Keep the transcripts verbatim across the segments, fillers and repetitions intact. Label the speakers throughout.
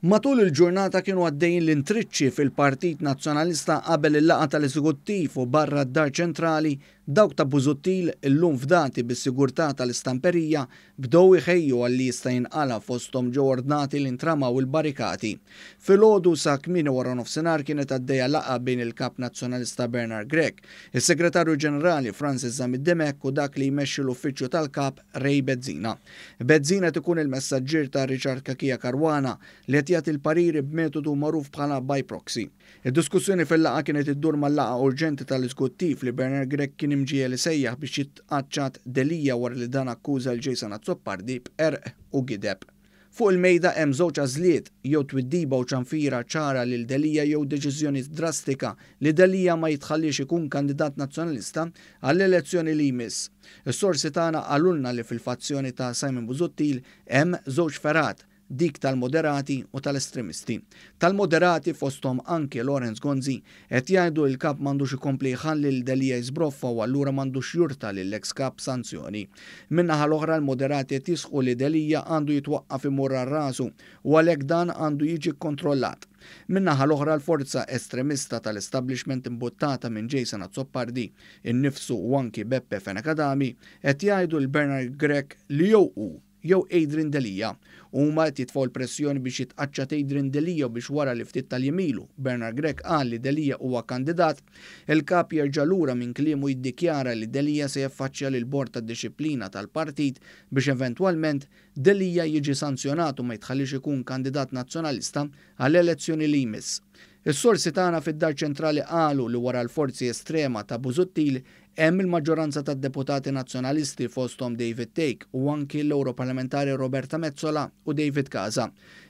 Speaker 1: Matul il-ġurnata kienu għaddejjin l-intriċċi fil-Partit Nazzjonalista qabel il-laqgħa tal-Eżekuttiv u barra d-Dar Ċentrali. Dawk ta' Busuttil, illum fdati bis-sigurtà tal-istamperija, bdew iħejju għal li jista' jinqala', fosthom ġew ordnati li ntramaw il-barikati. Filgħodu sa kmieni wara nofsinhar kienet għaddejja laqgħa bejn il-Kap Nazzjonalista Bernard Grech, is-Segretarju Ġenerali Francis Zammit Dimech u dak li jmexxi l-Uffiċċju tal-Kap Ray Bezzina. Bezzina ikun il-messaġġier ta' Richard Cachia Caruana li qed jagħti l-pariri b'metodu magħruf bħala by proxy. Id-diskussjoni fil-laqgħa kienet iddur mal-laqgħa urġenti tal-Eżekuttiv li Bernard Grech kien imġiegħel isejjaħ biex jitqaċċat Delia wara li dan akkuża lil Jason Azzopardi b'qerq u gideb. Fuq il-mejda hemm żewġ għażliet: jew twiddiba u ċanfira ċara lil Delia jew deċiżjoni drastika li Delia ma jitħallix ikun kandidat nazzjonalista għall-elezzjoni li jmiss. Is-sorsi tagħna qalulna li fil-fazzjoni ta' Simon Busuttil hemm żewġ fergħat, dik tal-moderati u tal-estremisti. Tal-moderati, fosthom anke Lawrence Gonzi, qed jgħidu l-kap m'għandux ikompli jħalli lil Delia jiżbroffa u allura m'għandux jurta lill-ex kap sanzjoni. Min-naħa l-oħra, l-moderati qed jisħqu li Delia għandu jitwaqqaf imur rasu u għalhekk dan għandu jiġi kontrollat. Min-naħa l-oħra, l-forza estremista tal-establishment imbuttata minn Jason Azzopardi innifsu u anki Beppe Fenech Adami qed jgħidu lil Bernard Grech li jew hu jew Adrian Delia. Huma qed jitfgħu l-pressjoni biex jitqaċċat Adrian Delia biex wara li ftit tal-jiem ilu Bernard Grech qal li Delia huwa kandidat, il-kap jerġa' lura minn kliemu, jiddikjara li Delia se jaffaċċja lil bord tad-dixxiplina tal-partit biex eventwalment Delia jiġi sanzjonat u ma jitħallix ikun kandidat nazzjonalista għall-elezzjoni li jmiss. Is-sorsi tagħna fid-Dar Ċentrali qalu li wara l-forzi estrema ta' Busuttil hemm il-maġġoranza tad-deputati nazzjonalisti, fosthom David Thake u anki l-Europarlamentari Roberta Metsola u David Casa.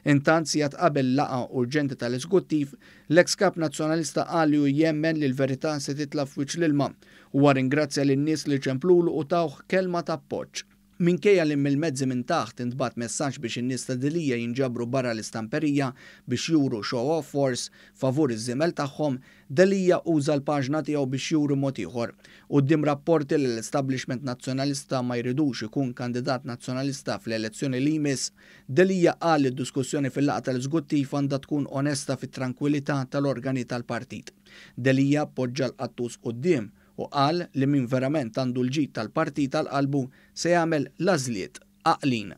Speaker 1: Intant, sigħat qabel laqgħa urġenti tal-Eżekuttiv, l-ex kap nazzjonalista qal li jemmen li l-verità se titla' f'wiċċ l-ilma u ringrazzja lin-nies li ċemplulu u tawh kelma ta' appoġġ. Minkejja li mill-mezzi minn taħt intbagħat messaġġ biex in-nies ta' Delia jinġabru barra l-istamperija biex juru show of force favur iż-żiemel tagħhom, Delia uża l-paġna tiegħu biex juru mod ieħor. Quddiem rapporti li l-establishment nazzjonalista ma jridux ikun kandidat nazzjonalista fl-elezzjoni li jmiss, Delia qal li d-diskussjoni fil-laqgħa tal-eżekuttiv għandha tkun onesta fit-tranquillità tal-organi tal-partit. Delia poġġa l-qattus quddiem u qal li min verament għandu l-ġid tal-partit għal qalbu se jagħmel l-għażliet għaqlin.